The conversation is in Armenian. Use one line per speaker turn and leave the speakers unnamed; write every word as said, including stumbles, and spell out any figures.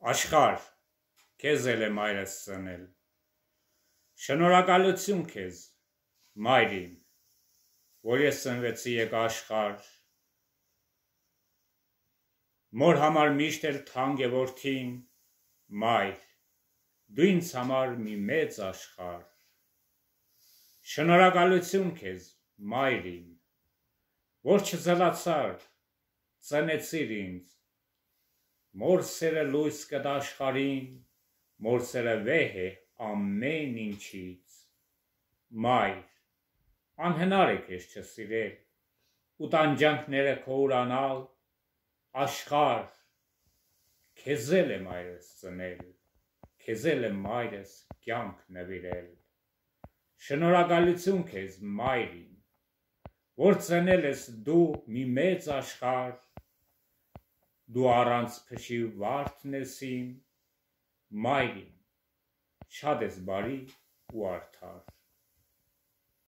Աշխարհ, քեզ էլ է մայրս ծնել, շնորհակալություն քեզ, մայր իմ, որ ես ծնվեցի եկա աշխարհ, մոր համար միշտ էլ թանկ է որդին, մայր, դու ինձ համար մի մեծ աշխարհ, շնորհակալություն քեզ, մայր իմ, որ չձլացար, ծնեցիր ինձ, մոր սերը լույս կտա աշխարհին, մոր սերը վեհ է ամեն ինչից, մայր, անհնար է քեզ չսիրել, ու տանջանքները քո ուրանալ, աշխարհ, քեզ էլ է մայրս ծնել, քեզ էլ է մայրս կյանք նվիրել, շնորհակալություն քեզ, մայր իմ, որ ծնել ես դու մի մեծ աշխարհ, դու առանց փշի վարդն ես իմ, մայր իմ, շատ ես բարի ու արդար։